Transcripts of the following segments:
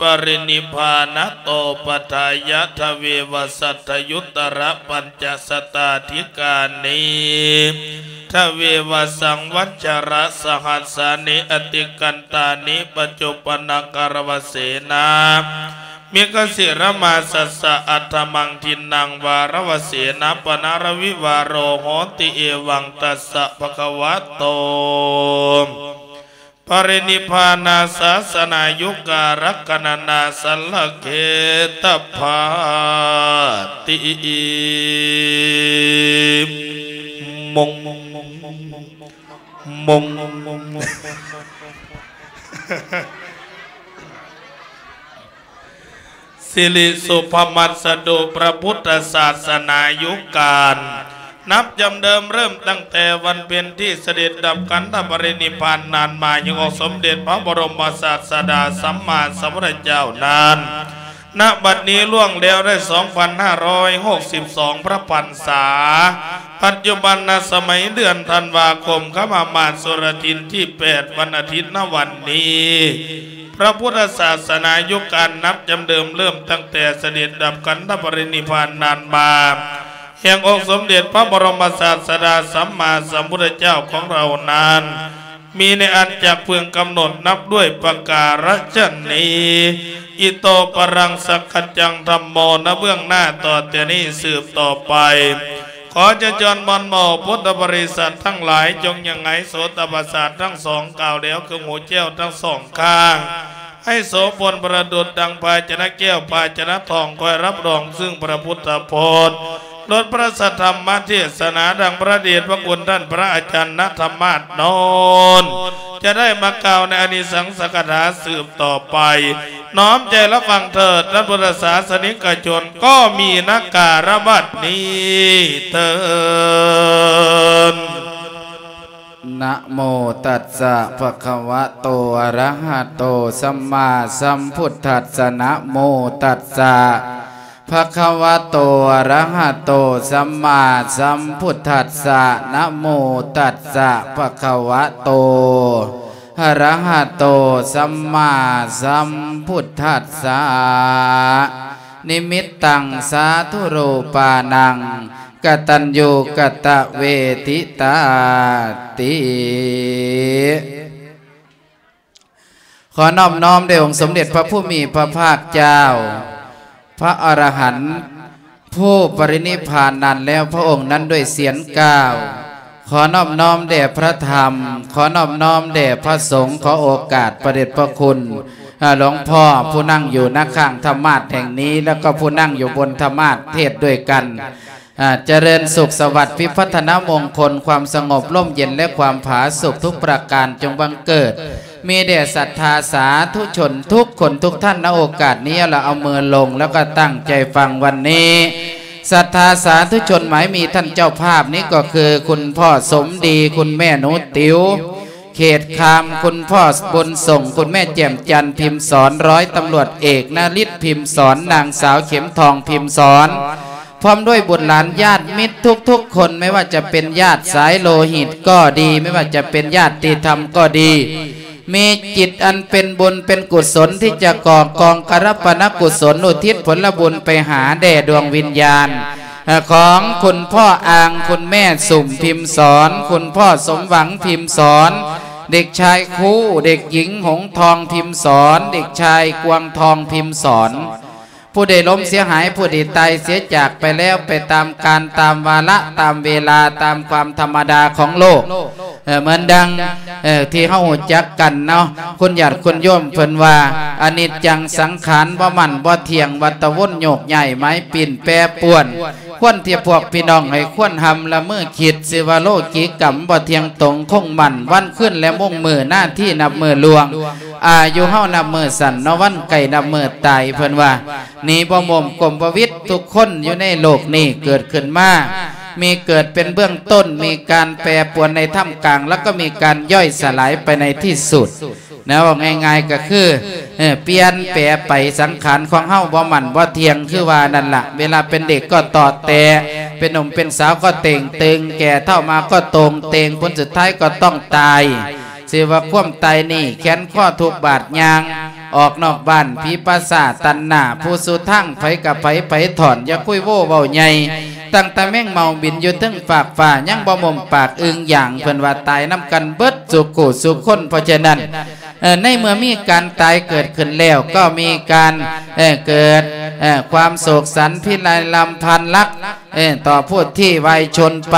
ປະລິນິບພານະໂຕ ປັດຖາຍະ ທະເວວະ ສັດຖະຍຸດຕະລະ ປັນຈະຊະຕາທິການິ ທະເວວະ ສັງວັດຊະລະ ສະຫັດສານິ ອະຕິກັນຕານິ ປັດຈຸປະນະກາລະວະເສນາ ມິຂະສິລະມາສັດສະ ອັດຖະມັງທິນນັງ ວາລະວະເສນາ ປະນາລະວິວາໂລ ໂຫຕິ ເອວັງ ຕັດສະ ພະຄະວະໂຕ ປະລິນິບພານາສາສະນາຍຸກາລັກຂະນະນາສັນລະເຂດຕະພາຕິ ມົງ ມົງ ສິລິສຸພະມັດສະດຸ ພະພຸດທະສາສະໜາຍຸການ ນັບຈຳເດີມເລີ່ມຕັ້ງແຕ່ວັນເພັນທີ່ສະເດັດດັບຂັນທະປະລິນິບພານນານມາ ຍັງອົງສົມເດັດພະບໍລົມສາສະດາສຳມາສຳພຸດທະເຈົ້ານັ້ນ ນະບັດນີ້ລ່ວງແລ້ວໄດ້ສອງພັນຫ້າຮ້ອຍຫົກສິບສອງພະພັນສາ ປັດຈຸບັນນະສະໄໝເດືອນທັນວາຄົມ ຄຳມາມາດສຸລະທິນທີແປດ ວັນອາທິດນະວັນນີ້ ພະພຸດທະສາສະໜາຍຸການນັບຈຳເດີມເລີ່ມຕັ້ງແຕ່ສະເດັດດັບຂັນທະປະລິນິບພານນານມາ ແຫ່ງອົງສົມເດັດພະບໍລົມສາສະດາສຳມາສຳພຸດທະເຈົ້າຂອງເຮົານັ້ນ ມີໃນອັນຈັກເພິ່ງກຳນົດນັບດ້ວຍປະກາລະຊະນີ ອິໂຕປະລັງສັກຂະຈັງທຳໂມ ນະເບື້ອງໜ້າຕໍ່ແຕ່ນີ້ສືບຕໍ່ໄປ ຂໍຈະຈວນມອນໝໍພຸດທະບໍລິສັດທັງຫຼາຍ ຈົ່ງຍັງໃຫ້ໂສຕະປະສາດທັງສອງ ກ່າວແລ້ວຄືຫູແຈ້ວທັງສອງຂ້າງ ໃຫ້ໂສພົນປະດຸດດັ່ງພາຊະນະແກ້ວພາຊະນະທອງ ຄອຍຮັບຮອງຊຶ່ງພະພຸດທະພົດ ລົດພະສັດທຳມະເທດສະໜາ ດັ່ງພະເດດພະຄຸນທ່ານພະອາຈານນະທຳມາດໂນນ ຈະໄດ້ມາກ່າວໃນອານິສັງສະກະຖາສືບຕໍ່ໄປ ນ້ອມໃຈຮັບຟັງເຖີດ ທ່ານພຸດທະສາສະນິກະຊົນ ກໍມີນະກາລະບັດນີ້ເທີນ. ນະໂມຕັດສະ ພະຄະວະໂຕ ອະລະຫະໂຕ ສຳມາສຳພຸດທັດສະ ນະໂມຕັດສະ ພະຄະວະໂຕ ອະລະຫະໂຕ ສຳມາສຳພຸດທັດສະ ນະໂມຕັດສະ ພະຄະວະໂຕ ອະລະຫະໂຕ ສຳມາສຳພຸດທັດສະ ນິມິດຕັງ ສາທຸຮູປານັງ ກະຕັນຍູ ກະຕະເວທິຕາຕິ. ຂໍນອບນ້ອມແດ່ອົງສົມເດັດພະຜູ້ມີພະພາກເຈົ້າ ພະອະລະຫັນຜູ້ປະລິນິບພານນັ້ນແລ້ວພະອົງນັ້ນດ້ວຍສຽງກ່າວ. ຂໍນອບນ້ອມແດ່ພະທຳ, ຂໍນອບນ້ອມແດ່ພະສົງ, ຂໍໂອກາດພະເດດພະຄຸນ ອາ ຫຼວງພໍ່ຜູ້ນັ່ງຢູ່ນະຂ້າງທຳມາດແຫ່ງນີ້ ແລ້ວກໍຜູ້ນັ່ງຢູ່ບົນທຳມາດເທດດ້ວຍກັນ. ອາ ຈະເລີນສຸກສະຫວັດ ວິພັດທະນະມົງຄົນ ຄວາມສະຫງົບ ຮົ່ມເຢັນ ແລະ ຄວາມຜາສຸກທຸກປະການຈົ່ງບັງເກີດ ມີແດ່ສັດທາສາທຸຊົນທຸກຄົນທຸກທ່ານ ນະໂອກາດນີ້ ລະເອົາມືລົງ ແລ້ວກໍຕັ້ງໃຈຟັງວັນນີ້. ສັດທາສາທຸຊົນໝາຍມີທ່ານເຈົ້າພາບນີ້ກໍຄື ຄຸນພໍ່ສົມດີ, ຄຸນແມ່ໜູຕິວ ເຂດຄາມ, ຄຸນພໍ່ບຸນສົງ, ຄຸນແມ່ແຈ່ມຈັນ ພິມສອນ, ຮ້ອຍຕຳຫຼວດເອກ ນະລິດ ພິມສອນ, ນາງສາວ ເຂັມທອງ ພິມສອນ ພ້ອມດ້ວຍບຸດຫຼານຍາດມິດທຸກໆຄົນ, ແມ່ນວ່າຈະເປັນຍາດສາຍໂລຫິດກໍດີ, ແມ່ນວ່າຈະເປັນຍາດຕິທຳກໍດີ, ມີຈິດອັນເປັນບຸນເປັນກຸສົນທີ່ຈະກໍ່ກອງກະລະປະນະກຸສົນ ອຸທິດຜົນລະບຸນໄປຫາແດ່ດວງວິນຍານ ຂອງຄຸນພໍ່ອ່າງ, ຄຸນແມ່ສຸມ ພິມສອນ, ຄຸນພໍ່ສົມຫວັງ ພິມສອນ, ເດັກຊາຍຄູ, ເດັກຍິງຫົງທອງ ພິມສອນ, ເດັກຊາຍກວາງທອງ ພິມສອນ. ຜູ້ໃດລົ້ມເສຍຫາຍ, ຜູ້ໃດຕາຍເສຍຈາກໄປແລ້ວ, ໄປຕາມການ, ຕາມວາລະ, ຕາມເວລາ, ຕາມຄວາມທຳມະດາຂອງໂລກ. ເອີ ເໝືອນດັ່ງ ເອີ ທີ່ເຮົາຮູ້ຈັກກັນເນາະ, ຄຸນຍາດຄຸນໂຍມເພິ່ນວ່າ ອະນິດຈັງສັງຂານ ບໍ່ໝັ້ນບໍ່ທ່ຽງ, ວັດຕະວົນໂຍກຍ້າຍ ໝາຍປິ່ນແປປວນ. ຄວນທີ່ພວກພີ່ນ້ອງໃຫ້ຄວນຮ່ຳລະມືຄິດ, ຊື່ວ່າໂລກີກຳບໍ່ທ່ຽງຕົງຄົງໝັ້ນ, ວັນຄືນແລະໂມງມື້ ນາທີນັບມື້ລ່ວງ, ອາຍຸເຮົານັບມື້ສັ້ນເນາະ, ວັນໃກ້ນັບມື້ຕາຍ. ເພິ່ນວ່າ ໜີບໍ່ມົມກົມບໍ່ວິດ, ທຸກຄົນຢູ່ໃນໂລກນີ້ເກີດຂຶ້ນມາ ມີເກີດເປັນເບື້ອງຕົ້ນ, ມີການແປປວນໃນທ່າມກາງ, ແລ້ວກໍມີການຍ່ອຍສະຫຼາຍໄປໃນທີ່ສຸດ. ນະ ເວົ້າງ່າຍໆກໍຄື ເອີ ປ່ຽນແປໄປ, ສັງຂານຂອງເຮົາບໍ່ໝັ້ນບໍ່ທ່ຽງ ຄືວ່ານັ້ນລະ. ເວລາເປັນເດັກກໍເຕາະແຕະ, ເປັນໜຸ່ມເປັນສາວກໍເຕ່ງຕຶງ, ແກ່ເຖົ້າມາກໍໂຕ່ງເຕ່ງ, ຜົນສຸດທ້າຍກໍຕ້ອງຕາຍ. ຊື່ວ່າຄວາມຕາຍນີ້ ແຂນຄໍທຸກບາດຍ່າງ ອອກນອກບ້ານ ຜີປາສາດຕັນໜ້າ ຜູ້ສູ່ທາງໃຜກະໄປ ໄປຖອນ ຢ່າຄຸຍໂວເວົ້າໃຫຍ່ ຕັ້ງແຕ່ແມງເມົາບິນຢູ່ເທິງຟາກຟ້າ ຍັງບໍ່ມຸມປາກອຶ່ງຢາງ ເພິ່ນວ່າຕາຍນຳກັນເບິດສູ່ຄູ່ສູ່ຄົນ. ເພາະສະນັ້ນ ເອີ ໃນເມື່ອມີການຕາຍເກີດຂຶ້ນແລ້ວ ກໍມີການ ເອີ ເກີດ ເອີ ຄວາມໂສກສັນພິໄລລຳພັນລັກ ເອີ ຕໍ່ຜູ້ທີ່ວາຍຊົນໄປ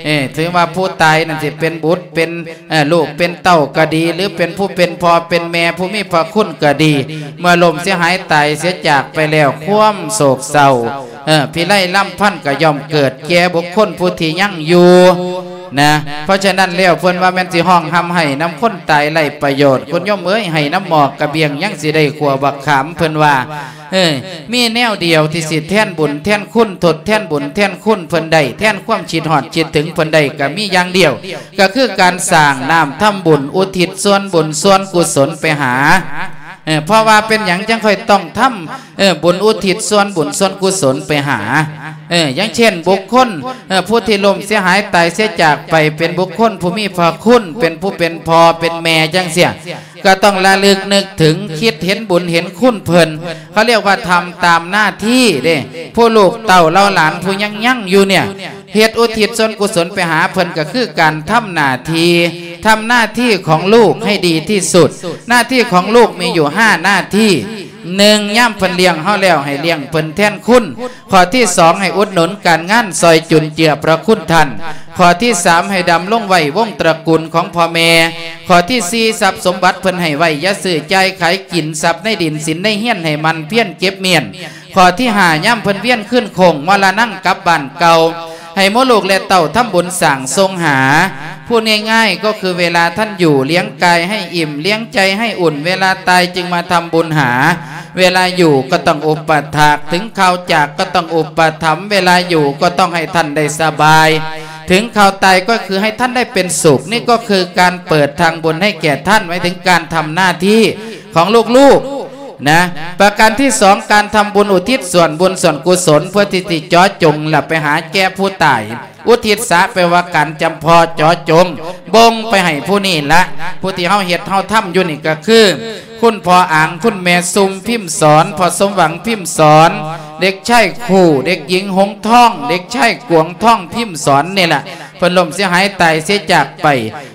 ເອີ ຖືວ່າຜູ້ຕາຍນັ້ນຊິເປັນບຸດເປັນ ເອີ ລູກເປັນເຕົ້າກໍດີ ຫຼືເປັນຜູ້ເປັນພໍ່ເປັນແມ່ຜູ້ມີພະຄຸນກໍດີ ເມື່ອລົ້ມເສຍຫາຍຕາຍເສຍຈາກໄປແລ້ວ ຄວາມໂສກເສົ້າ ເອີ ພິໄລລຳພັນກໍຍ່ອມເກີດແກ່ບຸກຄົນຜູ້ທີ່ຍັງຢູ່ນະ. ເພາະສະນັ້ນແລ້ວ ເພິ່ນວ່າແມ່ນຊິຮ້ອງຮ່ຳໄຫ້ນຳຄົນຕາຍໄຮ້ປະໂຫຍດ ຄຸນໂຍມເອີຍ ໄຫ້ນຳໝໍກກະບຽງ ຍັງຊິໄດ້ຂົ້ວບັກຂາມ ເພິ່ນວ່າ ເອີ ມີແນວດຽວທີ່ຊິແທນບຸນແທນຄຸນ ທົດແທນບຸນແທນຄຸນເພິ່ນໄດ້ ແທນຄວາມຄິດຮອດຄິດເຖິງເພິ່ນໄດ້ ກໍມີຢ່າງດຽວ ກໍຄືການສ້າງນ້ຳທຳບຸນ ອຸທິດສ່ວນບຸນສ່ວນກຸສົນໄປຫາ ເອີ ເພາະວ່າເປັນຫຍັງຈັ່ງຄ່ອຍຕ້ອງທຳ ເອີ ບຸນອຸທິດສ່ວນບຸນສ່ວນກຸສົນໄປຫາ ເອີ ຢ່າງເຊັ່ນ ບຸກຄົນ ເອີ ຜູ້ທີ່ລົ້ມເສຍຫາຍຕາຍເສຍຈາກໄປ ເປັນບຸກຄົນຜູ້ມີພະຄຸນ ເປັນຜູ້ເປັນພໍ່ເປັນແມ່ຈັ່ງຊີ້ ກໍຕ້ອງລະລຶກນຶກເຖິງ ຄິດເຫັນບຸນເຫັນຄຸນເພິ່ນ ເຂົາເອີ້ນວ່າທຳຕາມໜ້າທີ່ເດ້. ຜູ້ລູກເຕົ້າເຫຼົ່າຫຼານຜູ້ຍັງຍັງຢູ່ເນ່ຍ ເຮັດອຸທິດສ່ວນກຸສົນໄປຫາເພິ່ນ ກໍຄືການທຳໜ້າທີ່ ທຳໜ້າທີ່ຂອງລູກໃຫ້ດີທີ່ສຸດ. ໜ້າທີ່ຂອງລູກມີຢູ່ຫ້າໜ້າທີ່. ໜຶ່ງ ຍາມເພິ່ນລ້ຽງເຮົາແລ້ວ ໃຫ້ລ້ຽງເພິ່ນແທນຄຸນ. ຂໍ້ທີສອງ ໃຫ້ອຸດໜູນການງານ ຊ່ອຍຈຸນເຈືອພະຄຸນທ່ານ. ຂໍ້ທີສາມ ໃຫ້ດຳລົງໄວ້ວົງຕະກຸນຂອງພໍ່ແມ່. ຂໍ້ທີສີ່ ຊັບສົມບັດເພິ່ນໃຫ້ໄວ້ ຢ່າຊື້ຈ່າຍຂາຍກິນ ຊັບໃນດິນສິນໃນເຮືອນໃຫ້ໝັ່ນພຽນເກັບມ້ຽນ. ຂໍ້ທີຫ້າ ຍາມເພິ່ນວຽນຄືນໂຄ້ງມໍລະນັງກັບບ້ານເກົ່າ ໃຫ້ໝູ່ລູກແລະເຕົ້າທຳບຸນສ້າງສົ່ງຫາ. ພູດງ່າຍໆ ກໍຄືເວລາທ່ານຢູ່ ລ້ຽງກາຍໃຫ້ອີ່ມ ລ້ຽງໃຈໃຫ້ອຸ່ນ ເວລາຕາຍຈຶ່ງມາທຳບຸນຫາ. ເວລາຢູ່ກໍຕ້ອງອຸປະຖາກ ເຖິງຄາວຈາກກໍຕ້ອງອຸປະຖຳ ເວລາຢູ່ກໍຕ້ອງໃຫ້ທ່ານໄດ້ສະບາຍ ເຖິງຄາວຕາຍກໍຄືໃຫ້ທ່ານໄດ້ເປັນສຸກ. ນີ້ກໍຄືການເປີດທາງບຸນໃຫ້ແກ່ທ່ານ ໝາຍເຖິງການທຳໜ້າທີ່ຂອງລູກໆ ນະ. ປະການທີສອງ ການທຳບຸນອຸທິດສ່ວນບຸນສ່ວນກຸສົນ ເພື່ອທີ່ຊິເຈາະຈົງ ແລະ ໄປຫາແກ່ຜູ້ຕາຍ. ອຸທິດສະ ແປວ່າການຈຳເພາະເຈາະຈົງ ບົ່ງໄປໃຫ້ຜູ້ນີ້ລະ. ຜູ້ທີ່ເຮົາເຮັດເຮົາທຳຢູ່ນີ້ກໍຄື ຄຸນພໍ່ອາງ ຄຸນແມ່ຊຸ່ມ ພິມສອນ ພໍ່ສົມຫວັງ ພິມສອນ ເດັກຊາຍຄູ່ ເດັກຍິງຫົງທອງ ເດັກຊາຍກວງທອງ ພິມສອນ ນີ້ລະ ເພິ່ນລົ້ມເສຍຫາຍຕາຍເສຍຈາກໄປ.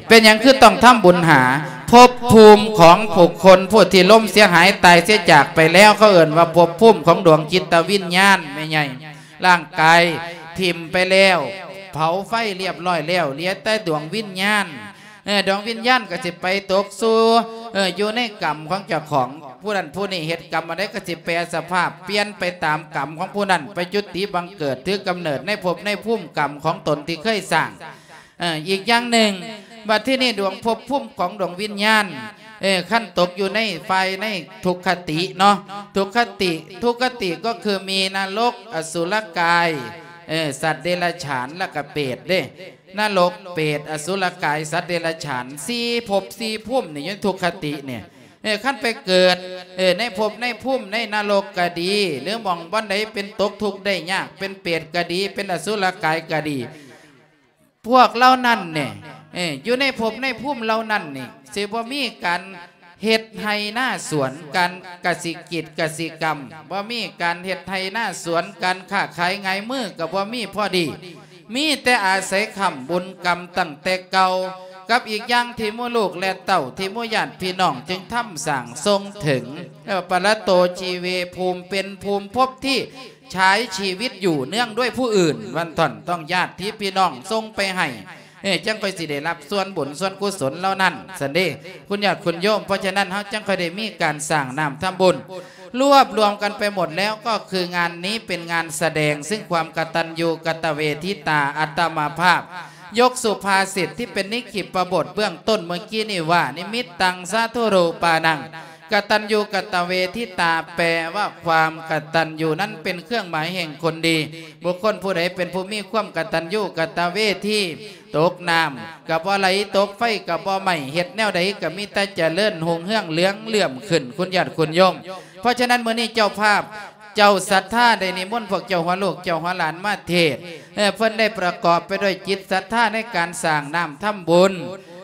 ເປັນຫຍັງຄືຕ້ອງທຳບຸນຫາ? ພົບພູມຂອງບຸກຄົນຜູ້ທີ່ລົ້ມເສຍຫາຍຕາຍເສຍຈາກໄປແລ້ວ ເຂົາເອີ້ນວ່າພົບພູມຂອງດວງຈິດຕະວິນຍານ ແມ່ໃຫຍ່. ຮ່າງກາຍຖິ້ມໄປແລ້ວ ເຜົາໄຟລຽບຮ້ອຍແລ້ວ ເຫຼືອແຕ່ດວງວິນຍານ. ເອີ ດວງວິນຍານກໍຊິໄປຕົກສູ່ ເອີ ຢູ່ໃນກຳຂອງເຈົ້າຂອງ. ຜູ້ນັ້ນຜູ້ນີ້ເຮັດກຳອັນໃດກໍຊິແປສະພາບ ປ່ຽນໄປຕາມກຳຂອງຜູ້ນັ້ນ ໄປຈຸຕິບັງເກີດ ຖືກຳເນີດໃນພົບໃນພູມກຳຂອງຕົນທີ່ເຄີຍສ້າງ. ເອີ ອີກຢ່າງໜຶ່ງ ບັດທີນີ້ດວງພົບພູມຂອງດວງວິນຍານ ເອີ ຄັນຕົກຢູ່ໃນຝ່າຍໃນທຸກຄະຕິເນາະ ທຸກຄະຕິ ທຸກຄະຕິກໍຄືມີນະລົກ ອະສຸລະກາຍ ເອີ ສັດເດຍລະສານ ແລ້ວກໍເປດເດ້. ນະລົກ ເປດ ອະສຸລະກາຍ ສັດເດຍລະສານ ສີ່ພົບສີ່ພູມນີ້ ຢູ່ໃນທຸກຄະຕິນີ້. ເອີ ຄັນໄປເກີດ ເອີ ໃນພົບໃນພູມໃນນະລົກກໍດີ ຫຼືໝ່ອງບ່ອນໃດເປັນຕົກທຸກໄດ້ຍາກ ເປັນເປດກໍດີ ເປັນອະສຸລະກາຍກໍດີ ພວກເຫຼົ່ານັ້ນນີ້ ເອີ ຢູ່ໃນພົບໃນພູມເຫຼົ່ານັ້ນນີ້ ຊິບໍ່ມີການເຮັດໄຮ່ນາສວນ ການກະສິກິດກະສິກຳ ບໍ່ມີການເຮັດໄຮ່ນາສວນ ການຄ້າຂາຍຫງາຍມືກໍບໍ່ມີພໍດີ ມີແຕ່ອາໄສຄ້ຳບຸນກຳຕັ້ງແຕ່ເກົ່າ ກັບອີກຢ່າງທີ່ໝູ່ລູກແລະເຕົ້າ ທີ່ໝູ່ຍາດພີ່ນ້ອງຈຶ່ງທຳສ້າງສົ່ງເຖິງ ເອີ້ນວ່າປະລະໂຕຊີເວ ພູມເປັນ ພູມພົບທີ່ ໃຊ້ຊີວິດຢູ່ເນື່ອງດ້ວຍຜູ້ອື່ນ ວັນທ່ອນຕ້ອງຍາດພີ່ນ້ອງສົ່ງໄປໃຫ້ ເອີ ຈັ່ງຄ່ອຍຊິໄດ້ຮັບສ່ວນບຸນສ່ວນກຸສົນເຫຼົ່ານັ້ນຊັ້ນເດ້ ຄຸນຍາດຄຸນໂຍມ. ເພາະສະນັ້ນ ເຮົາຈັ່ງຄ່ອຍໄດ້ມີການສ້າງນ້ຳທຳບຸນ ລວບລວມກັນໄປໝົດແລ້ວ ກໍຄືງານນີ້ເປັນງານສະແດງເຊິ່ງຄວາມກະຕັນຍູກະຕະເວທິຕາ ອັດຕະມາພາບ ຍົກສຸພາສິດທີ່ເປັນນິກຂິບປະບົດເບື້ອງຕົ້ນເມື່ອກີ້ນີ້ວ່າ ນິມິດຕັງສາທຸຮູປານັງ ກະຕັນຍູກະຕະເວທິຕາ ແປວ່າຄວາມກະຕັນຍູນັ້ນເປັນເຄື່ອງໝາຍແຫ່ງຄົນດີ. ບຸກຄົນຜູ້ໃດເປັນຜູ້ມີຄວາມກະຕັນຍູກະຕະເວທີ ຕົກນ້ຳກະບໍ່ໄຫຼ ຕົກໄຟກະບໍ່ໄໝ້ ເຮັດແນວໃດກະມີແຕ່ຈະເລີນຮຸ່ງເຮືອງເຫຼືອງເຫຼື້ອມຂຶ້ນ ຄຸນຍາດຄຸນໂຍມ. ເພາະສະນັ້ນ ມື້ນີ້ເຈົ້າພາບ ເຈົ້າສັດທາໄດ້ນິມົນພວກເຈົ້າຫົວລູກເຈົ້າຫົວຫຼານມາເທດ ເອີ ເພິ່ນໄດ້ປະກອບໄປດ້ວຍຈິດສັດທາໃນການສ້າງນ້ຳທຳບຸນ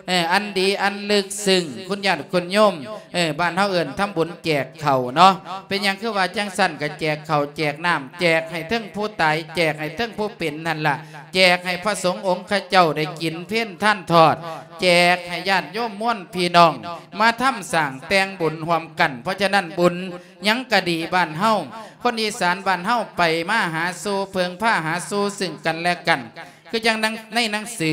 ເອີ ອັນດີອັນເລິກເຊິ່ງ ຄຸນຍາດຄຸນໂຍມ ເອີ ບ້ານເຮົາເອີ້ນທຳບຸນແຈກເຂົ້າເນາະ. ເປັນຫຍັງຄືວ່າຈັ່ງຊັ້ນ? ກໍແຈກເຂົ້າແຈກນ້ຳ ແຈກໃຫ້ເຖິງຜູ້ຕາຍ ແຈກໃຫ້ເຖິງຜູ້ເປັນຫັ້ນລະ ແຈກໃຫ້ພະສົງອົງຄະເຈົ້າໄດ້ກິນເພນທານທອດ ແຈກໃຫ້ຍາດໂຍມມວນພີ່ນ້ອງ ມາທຳສ້າງແຕ່ງບຸນຮ່ວມກັນ. ເພາະສະນັ້ນ ບຸນຫຍັງກະດີ ບ້ານເຮົາ ຄົນອີສານບ້ານເຮົາ ໄປມາຫາສູ່ ເພິ່ງພາຫາສູ່ເຊິ່ງກັນແລະກັນ. ຄືຈັ່ງໜັງ ໃນໜັງສື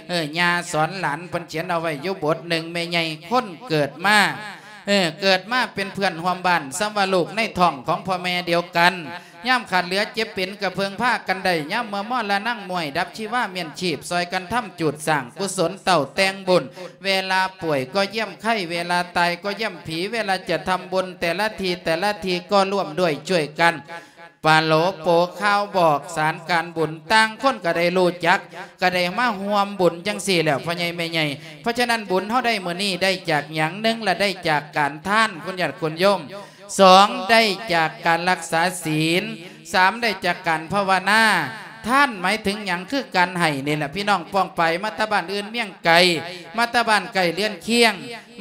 ເອີ ຍ່າສອນຫຼານ ເພິ່ນຂຽນເອົາໄວ້ຢູ່ບົດໜຶ່ງ ແມ່ໃຫຍ່ຄົນເກີດມາ ເອີ ເກີດມາເປັນເພື່ອນຮ່ວມບ້ານ ສ່ຳວ່າລູກໃນທ້ອງຂອງພໍ່ແມ່ດຽວກັນ ຍາມຂາດເຫຼືອເຈັບເປັນ ກໍເພິ່ງພາກັນໄດ້ ຍາມເມື່ອມໍລະນັງ ມວຍດັບຊີວາ ມ້ຽນຊີບ ຊ່ອຍກັນທຳຈູດສ້າງ ກຸສົນເຕົ້າແຕ່ງບຸນ ເວລາປ່ວຍກໍຢ້ຽມໄຂ້ ເວລາຕາຍກໍຢ້ຽມຜີ ເວລາຈະທຳບຸນແຕ່ລະທີແຕ່ລະທີ ກໍຮ່ວມດ້ວຍຊ່ວຍກັນ ປະໂລໂປຂ່າວບອກສານການບຸນ ຕ່າງຄົນກໍໄດ້ຮູ້ຈັກ ກໍໄດ້ມາຮ່ວມບຸນຈັ່ງຊີ້ແຫຼະ ພໍ່ໃຫຍ່ແມ່ໃຫຍ່. ເພາະສະນັ້ນ ບຸນເຮົາໄດ້ມື້ນີ້ໄດ້ຈາກຫຍັງ? ໜຶ່ງລະໄດ້ຈາກການທານ ຄຸນຍາດຄຸນໂຍມ, ສອງໄດ້ຈາກການລັກສາສິນ, ສາມໄດ້ຈາກການພາວະນາ. ທານໝາຍເຖິງຫຍັງ? ຄືການໃຫ້ນີ້ແຫຼະ ພີ່ນ້ອງປ້ອງປາຍ ມາແຕ່ບ້ານອື່ນເມືອງໄກ ມາແຕ່ບ້ານໃກ້ເຮືອນຄຽງ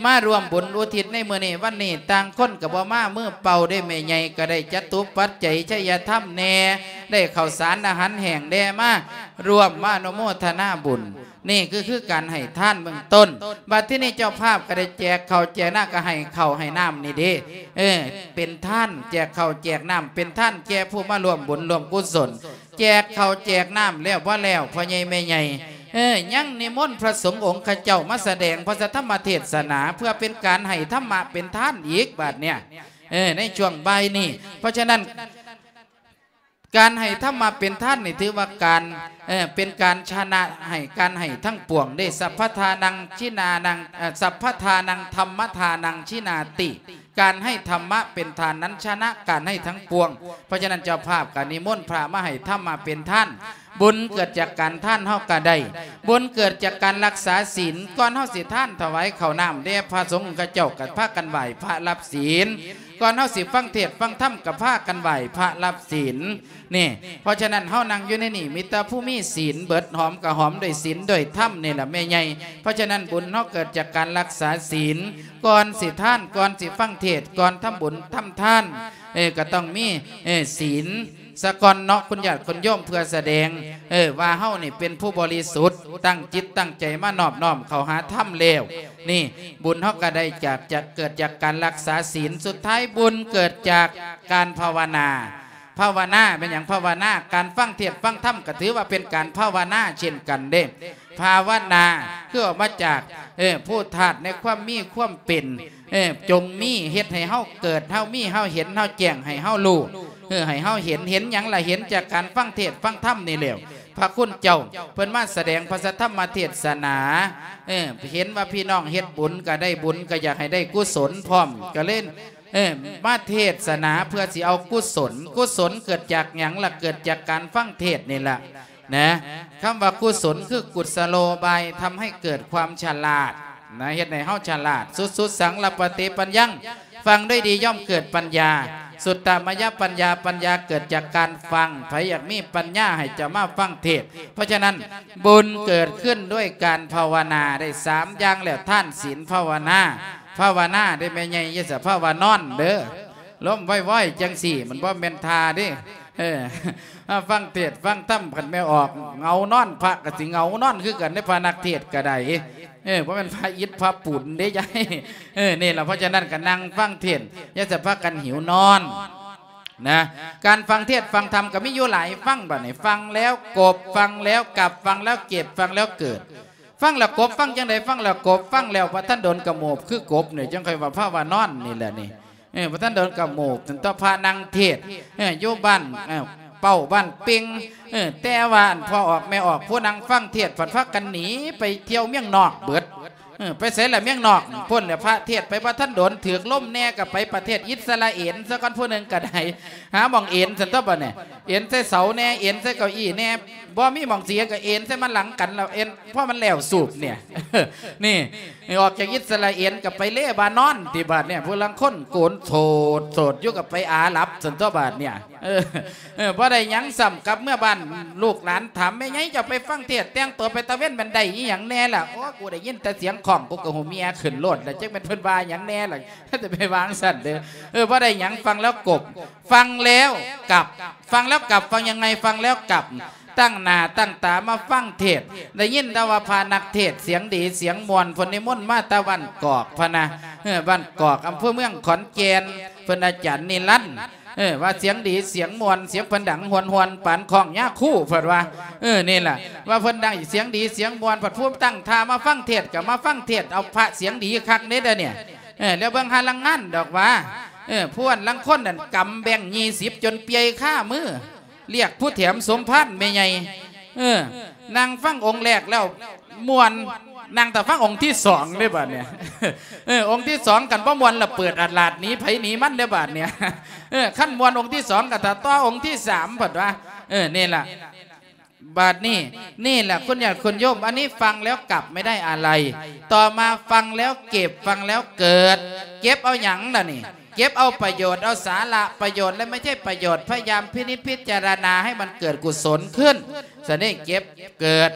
ມາຮ່ວມບຸນອຸທິດໃນມື້ນີ້ວັນນີ້ ຕ່າງຄົນກໍບໍ່ມາມືເປົ່າເດ້ ແມ່ໃຫຍ່ກໍໄດ້ຈະຕຸປັດໄຈໄຊຍະທຳແດ່ ໄດ້ເຂົ້າສານອາຫານແຫ້ງແດ່ ມາຮ່ວມມາອະນຸໂມທະນາບຸນ. ນີ້ກໍຄືການໃຫ້ທານເບື້ອງຕົ້ນ. ບັດທີນີ້ເຈົ້າພາບກໍໄດ້ແຈກເຂົ້າແຈກນ້ຳ ກໍໃຫ້ເຂົ້າໃຫ້ນ້ຳນີ້ເດ້ ເອີ ເປັນທານ ແຈກເຂົ້າແຈກນ້ຳເປັນທານແກ່ຜູ້ມາຮ່ວມບຸນຮ່ວມກຸສົນ. ແຈກເຂົ້າແຈກນ້ຳແລ້ວບໍ່ແລ້ວ ພໍ່ໃຫຍ່ແມ່ໃຫຍ່ ເອີ ຍັງນິມົນພະສົງອົງຄະເຈົ້າມາສະແດງພະສັດທຳມະເທດສະໜາ ເພື່ອເປັນການໃຫ້ທຳມະເປັນທານອີກບາດເນີ້ຍ ເອີ ໃນຊ່ວງບ່າຍນີ້. ເພາະສະນັ້ນ ການໃຫ້ທຳມະເປັນທານນີ້ ຖືວ່າການ ເອີ ເປັນການຊະນະໃຫ້ ການໃຫ້ທັງປວງເດ້. ສັບພະທານັງ ຊິນານັງ ເອີ ສັບພະທານັງ ທຳມະທານັງ ຊິນາຕິ ການໃຫ້ທຳມະເປັນທານນັ້ນ ຊະນະການໃຫ້ທັງປວງ. ເພາະສະນັ້ນ ເຈົ້າພາບກໍນິມົນພະມາໃຫ້ທຳມະເປັນທານ. ບຸນເກີດຈາກການທານເຮົາກໍໄດ້ ບຸນເກີດຈາກການລັກສາສິນ. ກ່ອນເຮົາຊິທານຖວາຍເຂົ້ານ້ຳແດ່ພະສົງ ເຂົາເຈົ້າກໍພາກັນໄຫວ້ພະຮັບສິນ. ກ່ອນເຮົາຊິຟັງເທດຟັງທຳກໍພາກັນໄຫວ້ພະຮັບສິນ. ນີ້ ເພາະສະນັ້ນ ເຮົານັ່ງຢູ່ໃນນີ້ ມີແຕ່ຜູ້ມີສິນເບິດ ຫອມກໍຫອມດ້ວຍສິນດ້ວຍທຳນີ້ລະແມ່ໃຫຍ່. ເພາະສະນັ້ນ ບຸນເຮົາເກີດຈາກການລັກສາສິນ. ກ່ອນຊິທານ ກ່ອນຊິຟັງເທດ ກ່ອນທຳບຸນທຳທານ ເອີ ກໍຕ້ອງມີ ເອີ ສິນສາກ່ອນເນາະ ຄຸນຍາດຄຸນໂຍມ ເພື່ອສະແດງ ເອີ ວ່າເຮົານີ້ເປັນຜູ້ບໍລິສຸດ ຕັ້ງຈິດຕັ້ງໃຈມານອບນ້ອມເຂົ້າຫາທຳແລ້ວ. ນີ້ ບຸນເຮົາກໍໄດ້ຈາກ ຈາກ ເກີດຈາກການລັກສາສິນ. ສຸດທ້າຍ ບຸນເກີດຈາກການພາວະນາ. ພາວະນາແມ່ນຫຍັງ? ພາວະນາ ການຟັງເທດຟັງທຳກໍຖືວ່າເປັນການພາວະນາເຊັ່ນກັນເດ້. ພາວະນາ ຄືອອກມາຈາກ ເອີ ພູດທາດໃນຄວາມມີຄວາມເປັນ ເອີ ຈົ່ງມີ ເຮັດໃຫ້ເຮົາເກີດ ເຮົາມີ ເຮົາເຫັນ ເຮົາແຈ້ງ ໃຫ້ເຮົາຮູ້ ເອີ ໃຫ້ເຮົາເຫັນ. ເຫັນຫຍັງລະ? ເຫັນຈາກການຟັງເທດຟັງທຳນີ້ແຫຼ້ວ. ພະຄຸນເຈົ້າເພິ່ນມາສະແດງພະສັດທຳມະເທດສະໜາ ເອີ ເຫັນວ່າພີ່ນ້ອງເຮັດບຸນກໍໄດ້ບຸນ ກໍຢາກໃຫ້ໄດ້ກຸສົນພ້ອມ ກໍເລີຍ ເອີ ມາເທດສະໜາເພື່ອຊິເອົາກຸສົນ. ກຸສົນເກີດຈາກຫຍັງລະ? ເກີດຈາກການຟັງເທດນີ້ລະນະ. ຄຳວ່າກຸສົນຄືກຸສະໂລບາຍ ທຳໃຫ້ເກີດຄວາມສະຫຼາດນະ ເຮັດໃຫ້ເຮົາສະຫຼາດ. ສຸ ສຸດສັງ ລະປະຕິປັນຍັງ ຟັງດ້ວຍດີຍ່ອມເກີດປັນຍາ. ສຸດຕະມະຍະປັນຍາ ປັນຍາເກີດຈາກການຟັງ. ໃຜຢາກມີປັນຍາໃຫ້ຈະມາຟັງເທດ. ເພາະສະນັ້ນ ບຸນເກີດຂຶ້ນດ້ວຍການພາວະນາ ໄດ້ສາມຢ່າງແລ້ວ ທານ ສິນ ພາວະນາ. ພາວະນາເດ້ແມ່ໃຫຍ່ ຢ່າສະພາວະນອນເດີ້. ລົມວອຍໆ ຈັ່ງຊີ້ ມັນບໍ່ແມ່ນທ່າເດ້. ເອີ ມາຟັງເທດຟັງທຳ ຄັນແມ່ອອກເຫງົານອນ ພະກໍຊິເຫງົານອນຄືກັນເດ້ ພະນັກເທດກໍໄດ້. ເອີ ບໍ່ແມ່ນພະອິດພະປຸນເດ້ຍາຍ. ເອີ ນີ້ລະ ເພາະສະນັ້ນກໍນັ່ງຟັງເທດ ຢ່າສະພາກັນຫິວນອນນະ. ການຟັງເທດຟັງທຳກໍມີຢູ່ຫຼາຍ. ຟັງບາດນີ້ ຟັງແລ້ວກົບ ຟັງແລ້ວກັບ ຟັງແລ້ວເຈັບ ຟັງແລ້ວເກີດ. ຟັງແລ້ວກົບ ຟັງຈັ່ງໃດ? ຟັງແລ້ວກົບ ຟັງແລ້ວບໍ່ທັນດົນກະໂມບຄືກົບນີ້ ຈັ່ງຄ່ອຍວ່າພາວະນອນນີ້ແຫຼະນີ້. ເອີ ບໍ່ທັນໂດນກະໂມກ ຈົນຕໍ່ພະນັ່ງເທດ ເອີ ຢູ່ບ້ານ ເອີ ເປົ້າ ບ້ານເປັງ ເອີ ແຕ່ວ່າອັນພໍ່ອອກແມ່ອອກ ຜູ້ນັ່ງຟັງເທດ ພັດພາກັນໜີໄປທ່ຽວເມືອງນອກເບິດ. ເອີ ໄປໃສລະເມືອງນອກ? ພຸ້ນແຫຼະ ພະເທດໄປບໍ່ທັນໂດນ ຖືກລົມແດ່ກໍໄປປະເທດອິດສະຣາເອນຊະກ່ອນ ຜູ້ໜຶ່ງກໍໄດ້ ຫາໝ່ອງເອນຊັ້ນຕົວະບາດນີ້ ເອນໃສ່ເສົາແດ່ ເອນໃສ່ເກົ້າอี้ແດ່ ບໍ່ມີໝ່ອງຊິເອນກໍເອນໃສ່ມາຫຼັງກັນ ແລ້ວເອນ ພໍມັນແລ້ວສູບນີ້ ນີ້ ອອກຈາກອິດສະຣາເອນກໍໄປເລບານອນຕິບາດນີ້. ຜູ້ລາງຄົນໂກນໂສດ ໂສດຢູ່ກໍໄປອາຣັບຊັ້ນຕົວະບາດນີ້. ເອີ ເອີ ບໍ່ໄດ້ຫຍັງຊ້ຳ ກັບເມືອບ້ານ ລູກຫຼານຖາມ ແມ່ໃຫຍ່ ເຈົ້າໄປຟັງເທດ ແຕ່ງຕົວໄປຕາເວັນ ມັນໄດ້ອີ່ຫຍັງແດ່ລະ? ໂອ້ ກູໄດ້ຍິນແຕ່ສຽງຄ້ອງ ກູກໍຫູເມຍຂຶ້ນໂລດລະ ຈັກແມ່ນເພິ່ນວ່າຫຍັງແດ່ລະ ຈະໄປວ່າຈັ່ງຊັ້ນເດີ. ເອີ ບໍ່ໄດ້ຫຍັງ ຟັງແລ້ວກົບ ຟັງແລ້ວກັບ ຟັງແລ້ວກັບ ຟັງຍັງໄງ? ຟັງແລ້ວກັບ ຕັ້ງໜ້າຕັ້ງຕາມາຟັງເທດ ໄດ້ຍິນແຕ່ວ່າພະນັກເທດສຽງດີສຽງມ່ວນ ເພິ່ນນິມົນມາແຕ່ບ້ານກອກພະນະ ເອີ ບ້ານກອກ ອຳເພີເມືອງ ຂອນແກ່ນ ເພິ່ນອາຈານນິລັນ ເອີ ວ່າສຽງດີສຽງມ່ວນ ສຽງເພິ່ນດັງຮວນໆ ປານຄ້ອງຍາຄູ ເພິ່ນວ່າ ເອີ ນີ້ລະ ວ່າເພິ່ນດັງສຽງດີສຽງມ່ວນ ພັດພູມຕັ້ງທ່າມາຟັງເທດ ກໍມາຟັງເທດ ເອົາພະສຽງດີຄັກເດ້ ດຽວນີ້ ເອີ ແລ້ວເບິ່ງຫາລາງງານດອກວ່າ ເອີ ພວກລາງຄົນນັ້ນກຳແບງຍີ່ສິບຈົນປ່ຽຍຄາມື ລຽກຜູ້ແຖມສົມພານແມ່ໃຫຍ່ ເອີ ນັ່ງຟັງອົງແລກແລ້ວມ່ວນ ນັ່ງຖ້າຟັງອົງທີສອງເດ້ບາດນີ້ ເອີ ອົງທີສອງຄັນບໍ່ມ່ວນລະເປີດອາດລາດໜີໃຜໜີມັນເດ້ບາດນີ້ ເອີ ຄັນມ່ວນອົງທີສອງກໍຖ້າຕໍ່ອົງທີສາມ ເພິ່ນວ່າ ເອີ ນີ້ລະ ບາດນີ້ ນີ້ແຫຼະ ຄຸນຍາດຄຸນໂຍມ ອັນນີ້ຟັງແລ້ວກັບ ໄມ່ໄດ້ອາໄລ ຕໍ່ມາຟັງແລ້ວເກັບ ຟັງແລ້ວເກີດ ເກັບເອົາຫຍັງລະນີ້? ເກັບເອົາປະໂຫຍດ ເອົາສາລະປະໂຫຍດ ແລະ ໄມ່ໃຊ່ປະໂຫຍດ ພະຍາຍາມພິນິດພິຈາລະນາໃຫ້ມັນເກີດກຸສົນຂຶ້ນ ສະນີ້ເກັບເກີດ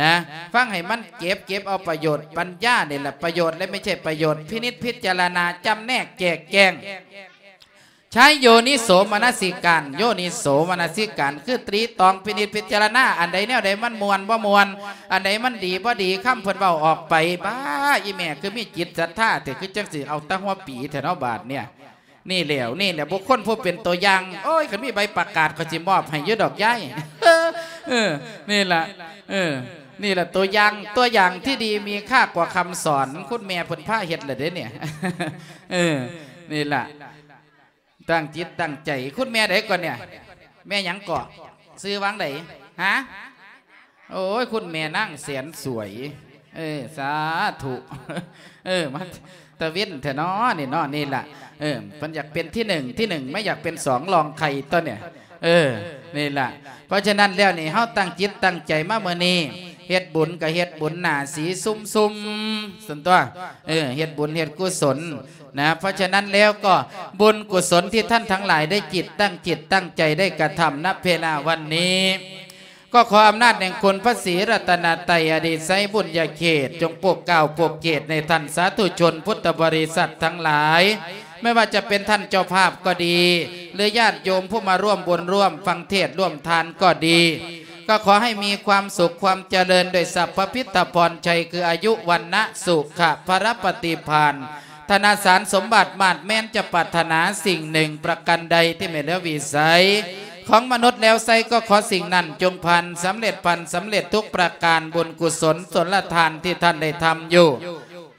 ນະ ຟັງໃຫ້ມັນເກັບ ເກັບເອົາປະໂຫຍດ ປັນຍານີ້ແຫຼະປະໂຫຍດ ແລະ ໄມ່ໃຊ່ປະໂຫຍດ ພິນິດພິຈາລະນາ ຈຳແນກແຈກແຈງ ໃຊ້ໂຍນິໂສມະນະສິການ ໂຍນິໂສມະນະສິການ ຄືຕຣີຕອງພິນິດພິຈາລະນາ ອັນໃດແນວໃດມັນມ່ວນບໍ່ມ່ວນ ອັນໃດມັນດີບໍ່ດີ ຄຳເພິ່ນເວົ້າອອກໄປ ບ້າ ອີ່ແມ່ຄືມີຈິດສັດທາແທ້ ຄືຈັ່ງຊິເອົາແຕ່ຫົວປີແທ້ເນາະບາດນີ້ ນີ້ແຫຼະ ນີ້ແຫຼະ ບຸກຄົນຜູ້ເປັນຕົວຢ່າງ ໂອ້ຍ ຄັນມີໃບປະກາດ ຂ້ອຍຊິມອບໃຫ້ຢູ່ດອກຍາຍ ເອີ ນີ້ລະ ເອີ ນີ້ລະຕົວຢ່າງ ຕົວຢ່າງທີ່ດີມີຄ່ากວ່າຄຳສອນ ຄຸນແມ່ເພິ່ນພາເຮັດລະເດ້ນີ້ ເອີ ນີ້ລະ ຕັ້ງຈິດຕັ້ງໃຈ ຄຸນແມ່ໃດກ່ອນນີ້ ແມ່ຫຍັງເກາະ ຊື່ວ່າໃດ ຫາ ໂອ້ຍ ຄຸນແມ່ນາງແສນສວຍ ເອີ ສາທຸ ເອີ ມາຕາເວັນແທ້ເນາະນີ້ເນາະ ນີ້ລະ ເອີ ເພິ່ນຢາກເປັນທີໜຶ່ງ ທີໜຶ່ງ ແມ່ຢາກເປັນສອງ ລອງໄຂ່ຕົວນີ້ ເອີ ນີ້ລະ ເພາະສະນັ້ນແລ້ວນີ້ ເຮົາຕັ້ງຈິດຕັ້ງໃຈມາມື້ນີ້ ເຮັດບຸນກໍເຮັດບຸນໜ້າສີຊຸ່ມໆ ຊັ້ນຕົວະ ເອີ ເຮັດບຸນເຮັດກຸສົນ ນະ ເພາະສະນັ້ນແລ້ວກໍບຸນກຸສົນທີ່ທ່ານທັງຫຼາຍໄດ້ຈິດ ຕັ້ງຈິດຕັ້ງໃຈໄດ້ກະທຳ ນະເວລາວັນນີ້ ກໍຂໍອຳນາດແຫ່ງຄຸນພະສີລັດຕະນະໄຕ ອານິໄສບຸນຍະເຂດ ຈົ່ງໂປກເກົ້າໂປກເກດໃຫ້ທ່ານສາທຸຊົນພຸດທະບໍລິສັດທັງຫຼາຍ ແມ່ນວ່າຈະເປັນທ່ານເຈົ້າພາບກໍດີ ຫຼື ຍາດໂຍມຜູ້ມາຮ່ວມບຸນຮ່ວມຟັງເທດຮ່ວມທານກໍດີ ກໍຂໍໃຫ້ມີຄວາມສຸກຄວາມຈະເລີນ ດ້ວຍຊັບພະພິດທະພອນໄຊ ຄືອາຍຸ ວັນນະ ສຸຂະ ພະລະປະຕິພານ ທະນະສານສົມບັດ ມາດແມ່ນຈະປາດຖະໜາສິ່ງໜຶ່ງປະການໃດທີ່ແມ່ນເຫຼືອວິໄສຂອງມະນຸດແລ້ວໄຊ ກໍຂໍສິ່ງນັ້ນຈົ່ງຜ່ານສຳເລັດ ຜ່ານສຳເລັດທຸກປະການ ບຸນກຸສົນສົນລະທານທີ່ທ່ານໄດ້ທຳຢູ່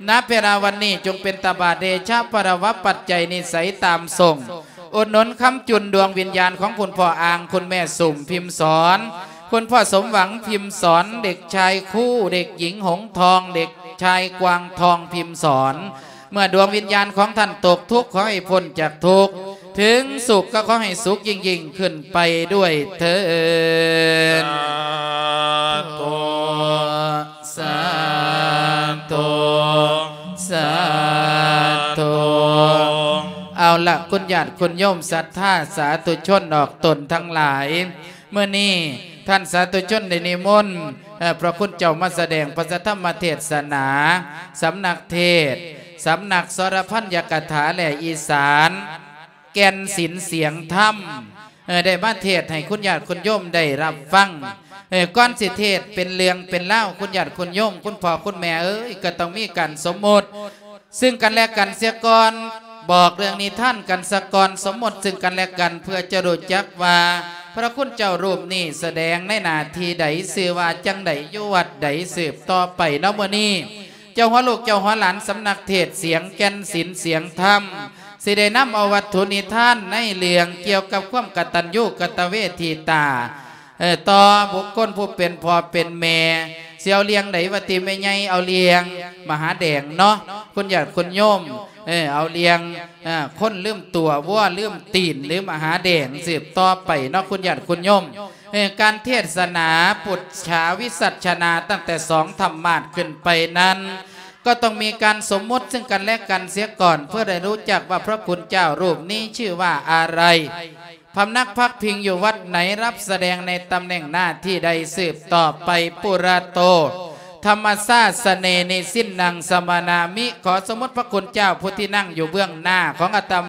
ນະເວລາວັນນີ້ ຈົ່ງເປັນຕະບະເດຊະພະລະວະປັດໄຈນິໄສຕາມສົ່ງ ອຸດໜູນຄ້ຳຈຸນດວງວິນຍານຂອງຄຸນພໍ່ອ່າງ ຄຸນແມ່ສຸມ ພິມສອນ ຄຸນພໍ່ສົມຫວັງ ພິມສອນ ເດັກຊາຍຄູ ເດັກຍິງຫົງທອງ ເດັກຊາຍກວາງທອງ ພິມສອນ ເມື່ອດວງວິນຍານຂອງທ່ານຕົກທຸກ ຂໍໃຫ້ພົ້ນຈາກທຸກ ເຖິງສຸກກໍຂໍໃຫ້ສຸກຍິ່ງໆຂຶ້ນໄປດ້ວຍເທີ້ນ. ສາທຸ ສາທຸ ສາທຸ. ເອົາລະ ຄຸນຍາດຄຸນໂຍມສັດທາສາທຸຊົນອອກຕົນທັງຫຼາຍ, ມື້ນີ້ທ່ານສາທຸຊົນໄດ້ນິມົນ ເອີ່ ພະຄຸນເຈົ້າມາສະແດງພະສັດທຳມະເທດສະໜາ, ສຳນັກເທດ, ສຳນັກສອລະພັນຍະກະຖາ ແລະ ອີສານ ແກ່ນສິນສຽງທຳ ເອີ ໄດ້ມາເທດໃຫ້ຄຸນຍາດຄຸນໂຍມໄດ້ຮັບຟັງ. ເອີ ກ່ອນຊິເທດເປັນເລື່ອງເປັນລາວ ຄຸນຍາດຄຸນໂຍມ ຄຸນພໍ່ຄຸນແມ່ເອີຍ ກໍຕ້ອງມີການສົມມຸດ ຊຶ່ງກັນແລະກັນເສຍກ່ອນ, ບອກເລື່ອງນິທານກັນສາກ່ອນ, ສົມມຸດຊຶ່ງກັນແລະກັນ ເພື່ອຈະຮູ້ຈັກວ່າພະຄຸນເຈົ້າຮູບນີ້ສະແດງໃນໜ້າທີ່ໃດ, ຊື່ວ່າຈັ່ງໃດ, ຢູ່ວັດໃດ, ສືບຕໍ່ໄປເນາະ. ມື້ນີ້ເຈົ້າຫົວລູກເຈົ້າຫົວຫຼານສຳນັກເທດສຽງແກ່ນສິນສຽງທຳ ຊິໄດ້ນຳເອົາວັດຖຸນິທານໃນເລື່ອງກ່ຽວກັບຄວາມກະຕັນຍູກະຕະເວທີຕາ ເອີ ຕໍ່ບຸກຄົນຜູ້ເປັນພໍ່ເປັນແມ່. ຊິເອົາເລື່ອງໃດວະຕິແມ່ໃຫຍ່? ເອົາເລື່ອງມະຫາແດງເນາະ ຄຸນຍາດຄຸນໂຍມ. ເອີ ເອົາເລື່ອງ ເອີ ຄົນລືມຕົວ ວັວລືມຕີນ ຫຼື ມະຫາແດງ ສືບຕໍ່ໄປເນາະ ຄຸນຍາດຄຸນໂຍມ. ເອີ ການເທດສະໜາປຸດສາວິສັດຊະນາຕັ້ງແຕ່ສອງທຳມາດຂຶ້ນໄປນັ້ນ ກໍຕ້ອງມີການສົມມຸດຊຶ່ງກັນແລະກັນເສຍກ່ອນ ເພື່ອໄດ້ຮູ້ຈັກວ່າພະຄຸນເຈົ້າຮູບນີ້ຊື່ວ່າອະໄລ. พำนักพักพิงอยู่วัดไหน รับแสดงในตำแหน่งหน้าที่ใดสืบต่อไป ปุระโต ธรรมสาสเน นิสินนัง สมนามิ ขอสมมุติพระคุณเจ้าผู้ที่นั่งอยู่เบื้องหน้าของอาต